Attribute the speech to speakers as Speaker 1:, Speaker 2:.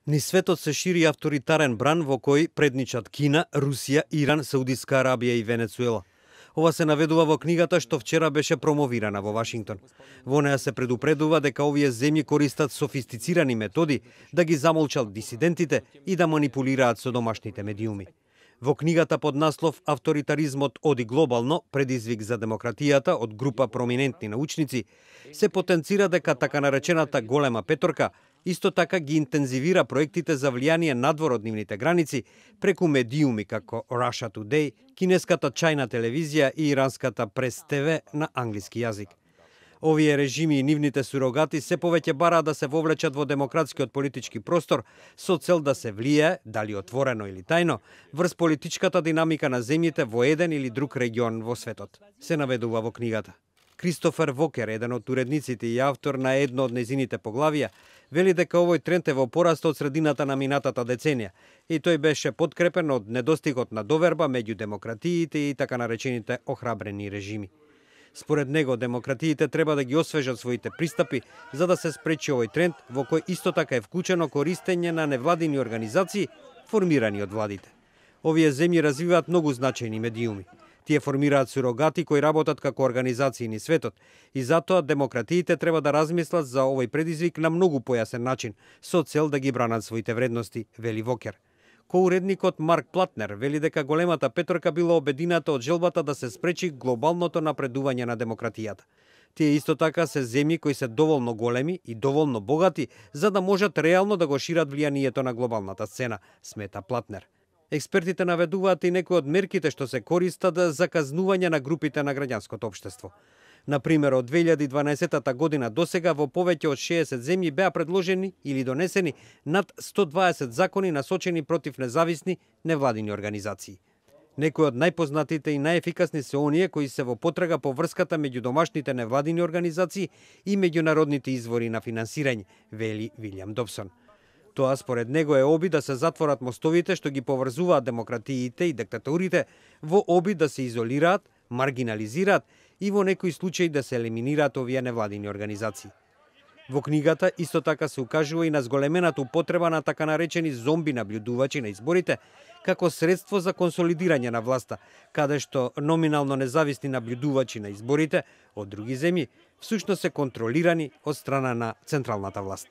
Speaker 1: Низ светот се шири авторитарен бран во кој предничат Кина, Русија, Иран, Саудиска Арабија и Венецуела. Ова се наведува во книгата што вчера беше промовирана во Вашингтон. Во неа се предупредува дека овие земји користат софистицирани методи да ги замолчат дисидентите и да манипулираат со домашните медиуми. Во книгата под наслов «Авторитаризмот оди глобално, предизвик за демократијата» од група проминентни научници, се потенцира дека така наречената голема петорка исто така ги интензивира проектите за влијание надвор од нивните граници преку медиуми како Russia Today, кинеската Чајна телевизија и иранската Прес ТВ на англиски јазик. Овие режими и нивните сурогати се повеќе бараат да се вовлечат во демократскиот политички простор со цел да се влијае, дали отворено или тајно, врз политичката динамика на земјите во еден или друг регион во светот, се наведува во книгата. Кристофер Вокер, еден од уредниците и автор на едно од незините поглавија, вели дека овој тренд е во пораст од средината на минатата деценија и тој беше подкрепен од недостигот на доверба меѓу демократиите и така наречените охрабрени режими. Според него, демократиите треба да ги освежат своите пристапи за да се спречи овој тренд во кој исто така е вклучено користење на невладини организации формирани од владите. Овие земји развиваат многу значајни медиуми. Тие формираат сурогати кои работат како организации низ светот и затоа демократиите треба да размислат за овој предизвик на многу појасен начин со цел да ги бранат своите вредности, вели Вокер. Коуредникот Марк Платнер вели дека големата петорка била обедината од желбата да се спречи глобалното напредување на демократијата. Тие исто така се земји кои се доволно големи и доволно богати за да можат реално да го шират влијанието на глобалната сцена, смета Платнер. Експертите наведуваат и некои од мерките што се користат за казнување на групите на граѓанското општество. Например, од 2012 година досега во повеќе од 60 земји беа предложени или донесени над 120 закони насочени против независни невладини организации. Некои од најпознатите и најефикасни се оние кои се во потрага по врската меѓу домашните невладини организации и меѓународните извори на финансирање, вели Вилјам Добсон. Тоа според него е обид да се затворат мостовите што ги поврзуваат демократиите и диктатурите во обид да се изолираат, маргинализираат и во некои случаи да се елиминираат овие невладини организации. Во книгата исто така се укажува и на зголемената употреба на така наречени зомби наблюдувачи на изборите како средство за консолидирање на власта, каде што номинално независни наблюдувачи на изборите од други земји всушност се контролирани од страна на централната власт.